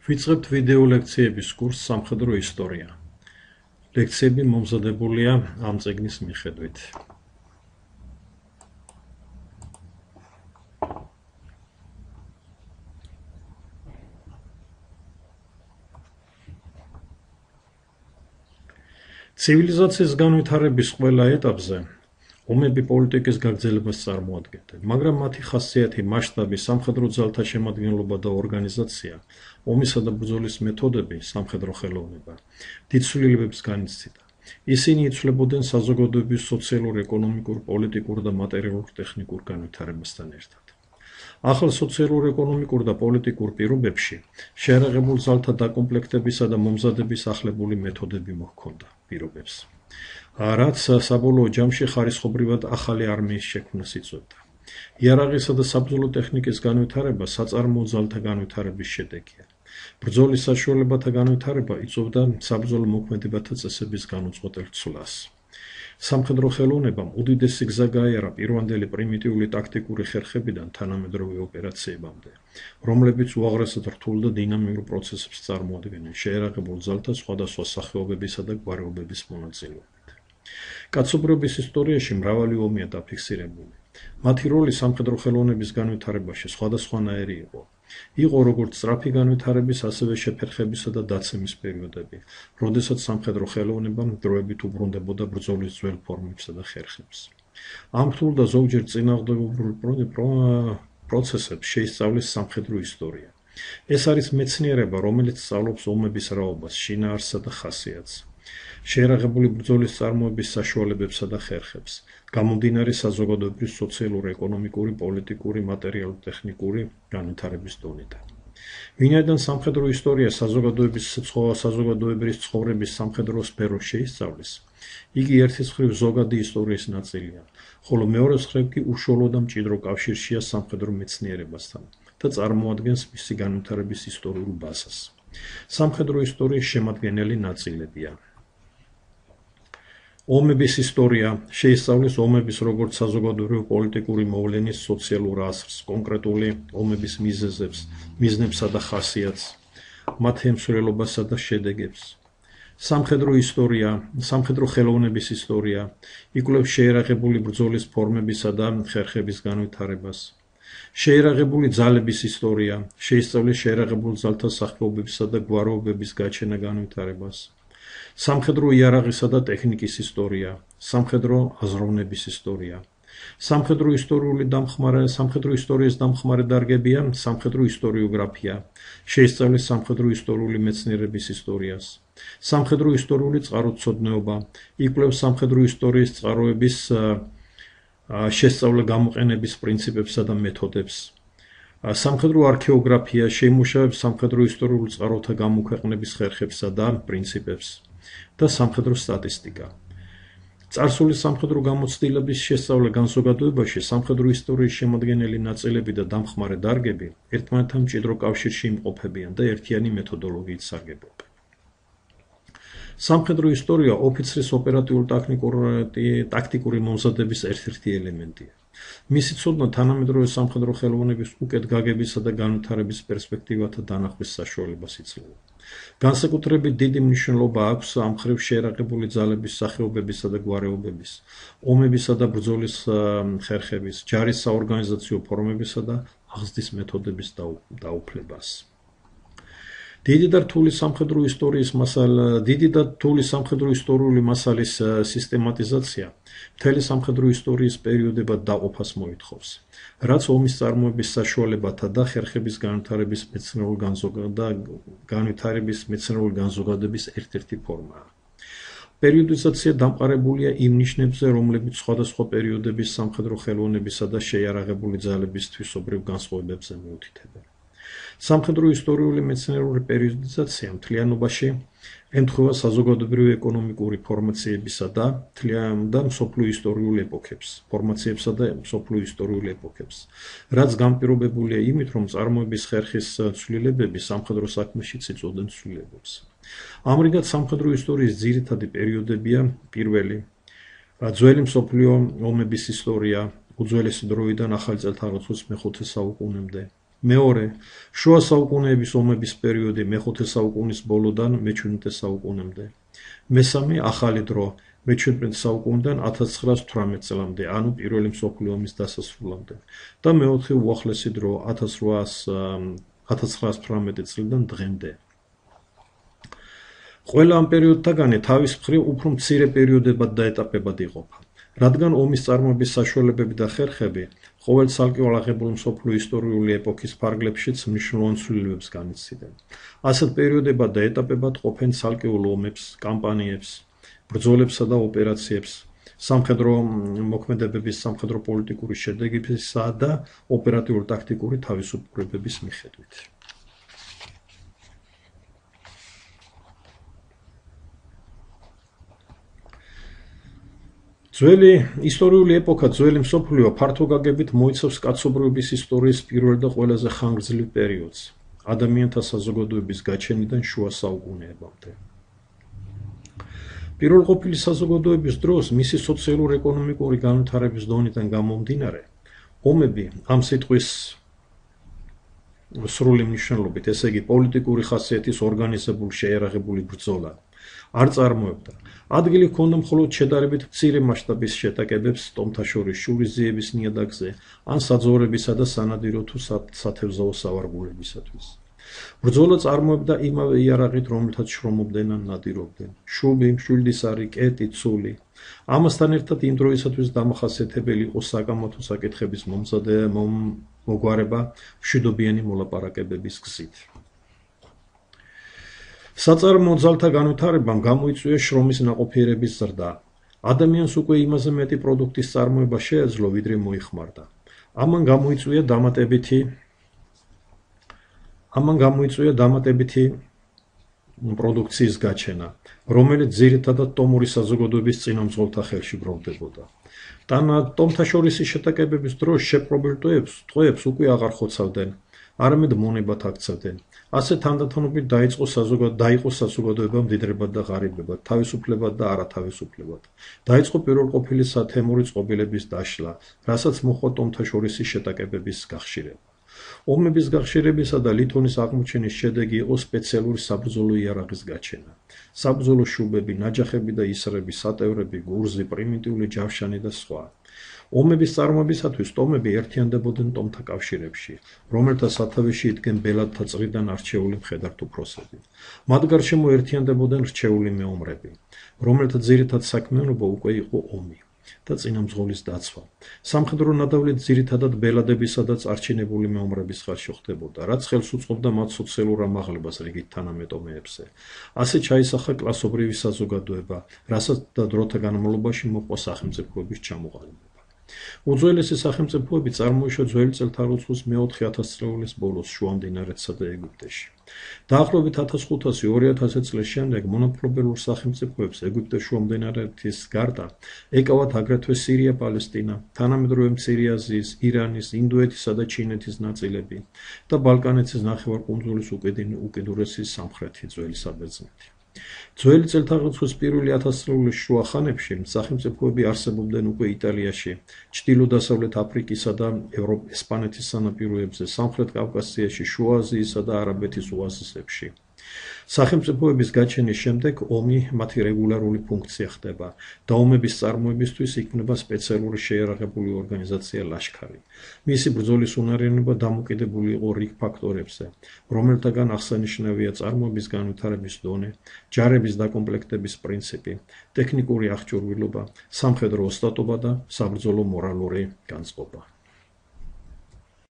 ვიწყებთ ვიდეო ლექციების კურსს სამხედრო ისტორია. ლექციები მომზადებულია ამ წიგნის მიხედვით. ცივილიზაციის განვითარების ყველა ეტაპზე ომები პოლიტიკის გაგრძელებას წარმოადგენდნენ, მაგრამ მათი ხასიათი, მასშტაბი, სამხედრო ძალთა შემადგენლობა და ორგანიზაცია, ომისა და ბრძოლის მეთოდები, სამხედრო ხელოვნება, დიდ ცვლილებებს განიცდიდა. ისინი იცვლებოდნენ საზოგადოების სოციალურ, ეკონომიკურ, პოლიტიკურ და მატერიალურ-ტექნიკურ განვითარებასთან ერთად. ახალ სოციალურ, ეკონომიკურ და პოლიტიკურ პირობებში შეიარაღებულ ძალთა დაკომპლექტებისა და მომზადების ახლებული მეთოდები მოჰქონდა პირობებს. რაც საბოლოო ჯამში ხარისხობრივად ახალი არმიის შექმნას იწვევდა. იარაღისა და საბრძოლო ტექნიკის განვითარება საწარმოო ძალთა განვითარების შედეგია. ბრძოლის საშუალებათა განვითარება იწვევდა საბრძოლო მოქმედებათა წესების განუწყვეტელ ცვლას. სამხედრო ხელოვნებამ უდიდესი გზა გაიარა პირვანდელი პრიმიტიული ტაქტიკური ხერხებიდან თანამედროვე ოპერაციებამდე, რომლებიც უაღრესად რთულ და დინამიურ პროცესებს წარმოადგენენ შეიარაღებულ ძალთა სხვადასხვა სახეობებისა და გვაროვნების მონაწილეობით. კაცობრიობის ისტორიაში მრავალი ომია დაფიქსირებული. მათი როლი სამხედრო ხელოვნების განვითარებაში სხვადასხვანაირი იყო. იყო როგორც სწრაფი განვითარების, ასევე შეფერხებისა და დაცემის პერიოდები, როდესაც სამხედრო ხელოვნება დროებით უბრუნდებოდა ბრძოლის ძველ ფორმებსა და ხერხებს. ამ რთულ და ზოგჯერ წინააღმდეგობრივ პროცესებს შეისწავლის სამხედრო ისტორია. ეს არის მეცნიერება, რომელიც სწავლობს ომების რაობას, შინაარსსა და ხასიათს. შეიარაღებული ბრძოლის წარმოების საშუალებებსა და ხერხებს, გამომდინარე საზოგადოებრივ, სოციალურ, ეკონომიკური, პოლიტიკური, მატერიალურ-ტექნიკური განვითარების დონიდან. ვინაიდან სამხედრო ისტორია საზოგადოებრივი ცხოვრების სამხედრო სფეროს შეისწავლის, იგი ერთის მხრივ ზოგადი ისტორიის ნაწილია, ხოლო მეორეს მხრივ კი უშუალო და მჭიდრო კავშირშია სამხედრო მეცნიერებასთან და წარმოადგენს მისი განვითარების ისტორიულ ბაზას. სამხედრო ისტორიის შემადგენელი ნაწილებია. ომების ისტორია შეისწავლის ომების როგორც საზოგადოებრივი პოლიტიკური მოვლენის სოციალურ აზრს, კონკრეტული ომების მიზნებსა და ხასიათს, მათ ემსვლელობასა და შედეგებს. სამხედრო ისტორია, სამხედრო ხელოვნების ისტორია, იკვლევს შეიარაღებული ბრძოლის ფორმებისა და ხერხების განვითარებას. შეიარაღებული ძალების ისტორია შეისწავლის შეიარაღებულ ძალთა სახეობებისა და გვაროვნების გაჩენა განვითარებას. სამხედრო იარაღისა და ტექნიკის ისტორია, სამხედრო აზროვნების ისტორია. სამხედრო ისტორიის დამხმარე დარგებია სამხედრო ისტორიოგრაფია, შეისწავლის სამხედრო ისტორიული მეცნიერების ისტორიას. სამხედრო ისტორიული წყაროцოდნეობა, იკვლევს სამხედრო ისტორიის წყაროების შესწავლე გამოყენების პრინციპებსა და მეთოდებს. სამხედრო არქეოგრაფია შეიმუშავებს სამხედრო ისტორიულ წყაროთა გამოქვეყნების ხერხებსა და პრინციპებს და სამხედრო სტატისტიკა. წარსული სამხედრო გამოცდილების შესწავლე განზოგადოებაში სამხედრო ისტორიის შემადგენელი ნაწილები და დამხმარე დარგები ერთმანეთთან მჭიდრო კავშირში იმყოფებიან და ერთიანი მეთოდოლოგიით სარგებლობენ. სამხედრო ისტორია ოფიცრის ოპერატიულ-ტაქტიკური მომზადების ერთ-ერთი ელემენტია. მისი ცოდნა თანამედროვე სამხედრო ხელოვნების უკეთ გაგებისა და განვითარების პერსპექტივათა დანახვის საშუალებას იძლევა. განსაკუთრებით დიდი მნიშვნელობა აქვს ამ მხრივ შეიარაღებული ძალების სახეობებისა და გვაროვნების, ომებისა და ბრძოლის ხერხების, ჯარის საორგანიზაციო ფორმებისა და აღზრდის მეთოდების დაუფლებას. დიდი და რთული სამხედრო ისტორიული მასალის სისტემატიზაცია მთელი სამხედრო ისტორიის პერიოდებად დაყოფას მოითხოვს, რაც ომის წარმოების საშუალებათა და ხერხების განვითარების მეცნიერული განზოგადების ერთ-ერთი ფორმაა. პერიოდიზაცია დამყარებულია იმ ნიშნებზე, რომლებიც სხვადასხვა პერიოდების სამხედრო ხელოვნებისა და შეიარაღებული ძალების თვისობრივ განსხვავებებზე მიუთითებენ. სამხედრო ისტორიული მეცნიერული პერიოდიზაცია მთლიანობაში ემთხვევა საზოგადოებრივი ეკონომიკური ფორმაციებისა და მსოფლიო ისტორიულ ეპოქებს, რაც განპირობებულია იმით, რომ წარმოების ხერხის ცვლილებები სამხედრო საქმეშიც იწვევდნენ ცვლილებებს. ამრიგად სამხედრო ისტორიის ძირითადი პერიოდებია პირველი, ძველი მსოფლიო ომების ისტორია, უძველესი დროიდან ახალი წელთაღრიცხვის მე-5 საუკუნემდე. მეორე, შუა საუკუნეების ომების პერიოდი მე-5 საუკუნის ბოლოდან მე-17 საუკუნემდე. მესამე, ახალი დრო მე-17 საუკუნიდან 1918 წლამდე, ანუ პირველი მსოფლიო ომის დასასრულამდე. და მეოთხე უახლესი დრო 1918 წლიდან დღემდე. ყველა ამ პერიოდთაგანი თავის მხრივ უფრო მცირე პერიოდებად და ეტაპებად იყოფა. რადგან ომის წარმოების საშუალებები და ხერხები ყოველ ცალკეულ აღებული მსოფლიო ისტორიული ეპოქის ფარგლებშიც მნიშვნელოვან ცვლილებებს განიცდიდნენ. ასეთ პერიოდებად და ეტაპებად ყოფენ ცალკეულ ომებს, კამპანიებს, ბრძოლებსა და ოპერაციებს, სამხედრო მოქმედებების, სამხედრო პოლიტიკური შედეგებისა და ოპერატიულ-ტაქტიკური თავისუფლებების მიხედვით. ძველი ისტორიული ეპოქა, ძველი მსოფლიო ფართო გაგებით მოიცავს კაცობრიობის ისტორიის პირველ და ყველაზე ხანგრძლივ პერიოდს, ადამიანთა საზოგადოების გაჩენიდან შუა საუკუნეებამდე. პირველყოფილი საზოგადოების დროს მისი სოციალურ-ეკონომიკური განვითარების დონიდან გამომდინარე, ომები ამ სიტყვის სრული მნიშვნელობით, ესე იგი პოლიტიკური ხასიათის ორგანიზებული შეიარაღებული ბრძოლა არ წარმოებდა. ადგილი ჰქონდა მხოლოდ შედარებით მცირე მასშტაბის შეტაკებებს ტომთა შორის შურისძიების ნიადაგზე ან საძოვრებისა და სანადირო თუ სათევზაო სავარგულებისათვის. ბრძოლა წარმოებდა იმავე იარაღით, რომელთაც შრომობდნენ ან ნადირობდნენ: შუბი, მშვილდისარი, კეტი, ცული. ამასთან ერთად იმ დროისათვის დამახასიათებელი იყო საკამათო საკითხების მოგვარება მშვიდობიანი მოლაპარაკებების გზით. საწარმოო ძალთა განვითარებამ გამოიწვია შრომის ნაყოფიერების ზრდა. ადამიანს უკვე იმაზე მეტი პროდუქტის წარმოება შეეძლო, ვიდრე მოიხმარდა. ამან გამოიწვია დამატებითი პროდუქციის გაჩენა, რომელიც ძირითადად ტომური საზოგადოების წინამძღოლთა ხელში გროვდებოდა. ტომთა შორისი შეტაკებების დროს შეპყრობილ ტყვეებს უკვე აღარ ხოცავდნენ, არამედ მონებად აქცევდნენ. ასე თანდათანობით დაიწყო საზოგადოება მდიდრებად და ღარიბებად, თავისუფლებად და არათავისუფლებად. დაიწყო პირველყოფილი სათემური წყობილების დაშლა, რასაც მოჰყვა ტომთა შორისი შეტაკებების გახშირება. ომების გახშირებისა და ლითონის აღმოჩენის შედეგი იყო სპეციალური საბრძოლო იარაღის გაჩენა. საბრძოლო შუბები, ნაჯახები და ისრები, სატევრები, გურზი, პრიმიტიული ჯავშანი და სხვა. ომების წარმოებისათვის ტომები ერთიანდებოდნენ ტომთა კავშირებში, რომელთა სათავეში იდგნენ ბელადთა წრიდან არჩეული მხედართუფროსები. მათ გარშემო ერთიანდებოდნენ რჩეული მეომრები, რომელთა ძირითად საქმიანობა უკვე იყო ომი და წინამძღოლის დაცვა. სამხედრო ნადავლით ძირითადად ბელადებისა და წარჩინებული მეომრების ხარჯზე ხდებოდა, რაც ხელს უწყობდა მათ სოციალურ ამაღლებას რიგით თანამეტომეებზე. ასე ჩაისახა კლასობრივი საზოგადოება, რასაც და დროთა განმავლობაში მოჰყვა სახელმწიფოების ჩამოყალიბება. უძველესი სახელმწიფოები წარმოიშვა ძველი წელთაღრიცხვის მე-4 ათასწლეულის ბოლოს შუამდინარეთსა და ეგვიპტეში. დაახლოებით 1500-2000 წლის შემდეგ მონაპოლიურ სახელმწიფოებს ეგვიპტეს შუამდინარეთის გარდა ეკავათ აგრეთვე სირია, პალესტინა, თანამედროვე მცირე აზიის, ირანის, ინდოეთისა და ჩინეთის ნაწილები და ბალკანეთის ნახევარკუნძულის უკიდურესი სამხრეთი ძველი საბერძნეთი. ძველი წელთაღრიცხვის პირველი ათასწლეულის შუა ხანებში სახელმწიფოები არსებობდნენ უკვე იტალიაში, ჩრდილო-დასავლეთ აფრიკისა და ესპანეთის სანაპიროებზე, სამხრეთ კავკასიაში, შუა აზიისა და არაბეთის ოაზისებში. სახელმწიფოების გაჩენის შემდეგ ომი მათი რეგულარული ფუნქცია ხდება და ომების წარმოებისთვის იქმნება სპეციალური შეიარაღებული ორგანიზაცია ლაშქარი. მისი ბრძოლის უნარიანობა დამოკიდებული იყო რიგ ფაქტორებზე, რომელთაგან აღსანიშნავია წარმოების განვითარების დონე, ჯარების დაკომპლექტების პრინციპი, ტექნიკური აღჭურვილობა, სამხედრო ოსტატობა და საბრძოლო მორალური განწყობა.